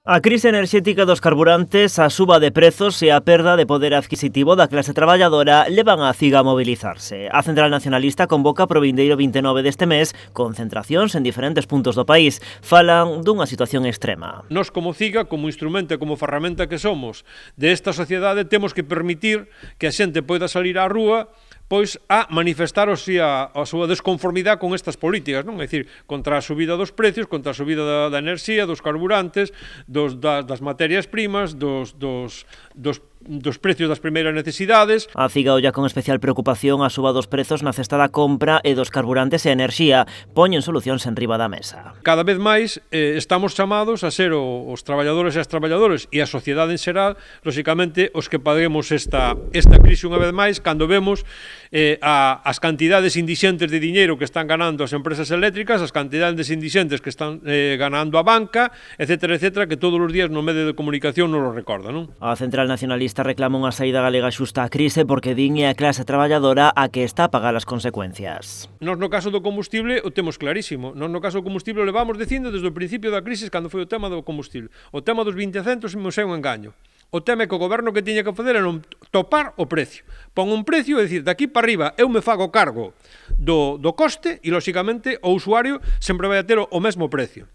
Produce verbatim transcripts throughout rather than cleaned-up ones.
A crise enerxética dos carburantes, a suba de prezos e a perda de poder adquisitivo da clase traballadora levan a CIG a mobilizarse. A Central Nacionalista convoca pro vindeiro vinte e nove deste mes concentracións en diferentes puntos do país. Falan dunha situación extrema. Nos como CIGA, como instrumento e como ferramenta que somos desta sociedade, temos que permitir que a xente poida salir á rúa pois a manifestar o si a, a súa desconformidade con estas políticas, non? É dicir, contra a subida dos precios, contra a subida da, da enerxía, dos carburantes, dos, da, das materias primas, dos, dos, dos dos precios das primeiras necesidades. A CIGA olla con especial preocupación a suba dos prezos na cesta da compra e dos carburantes e enerxía. Poñen solucións en riba da mesa. Cada vez máis eh, estamos chamados a ser o, os traballadores e as traballadores e a sociedade en xeral, lóxicamente, os que paguemos esta, esta crise unha vez máis, cando vemos eh, a, as cantidades indixentes de diñeiro que están ganando as empresas eléctricas, as cantidades indixentes que están eh, ganando a banca, etcétera, etcétera, que todos os días no medio de comunicación nos lo recorda, non? A Central Nacionalista reclama unha saída galega xusta á crise porque din é a clase traballadora a que está a pagar as consecuencias. Nos no caso do combustible o temos clarísimo. Nos no caso do combustible o levamos dicindo desde o principio da crise cando foi o tema do combustible. O tema dos vinte centos me é un engaño. O tema é que o goberno que tiña que fazer era non topar o precio. Pon un precio, é dicir, daqui para arriba eu me fago cargo do, do coste e, lóxicamente, o usuario sempre vai a ter o, o mesmo precio.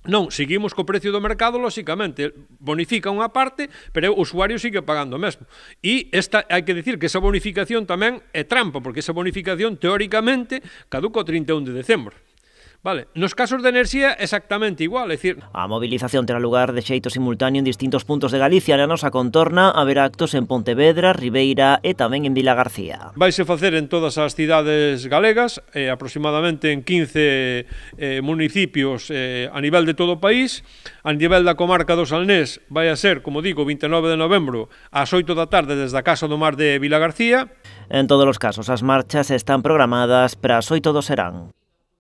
Non, seguimos co precio do mercado, lóxicamente, bonifica unha parte, pero o usuario sigue pagando o mesmo. E esta, hai que dicir que esa bonificación tamén é trampa, porque esa bonificación, teóricamente, caduca o trinta e un de decembro. Vale, nos casos de enerxía exactamente igual, é dicir... A movilización terá lugar de xeito simultáneo en distintos puntos de Galicia. Na nosa contorna haberá actos en Pontevedra, Ribeira e tamén en Vilagarcía. Vaise facer en todas as cidades galegas, eh, aproximadamente en quince eh, municipios eh, a nivel de todo o país. A nivel da comarca do Salnés vai a ser, como digo, vinte e nove de novembro ás oito da tarde desde a Casa do Mar de Vilagarcía. En todos os casos, as marchas están programadas para as oito do serán.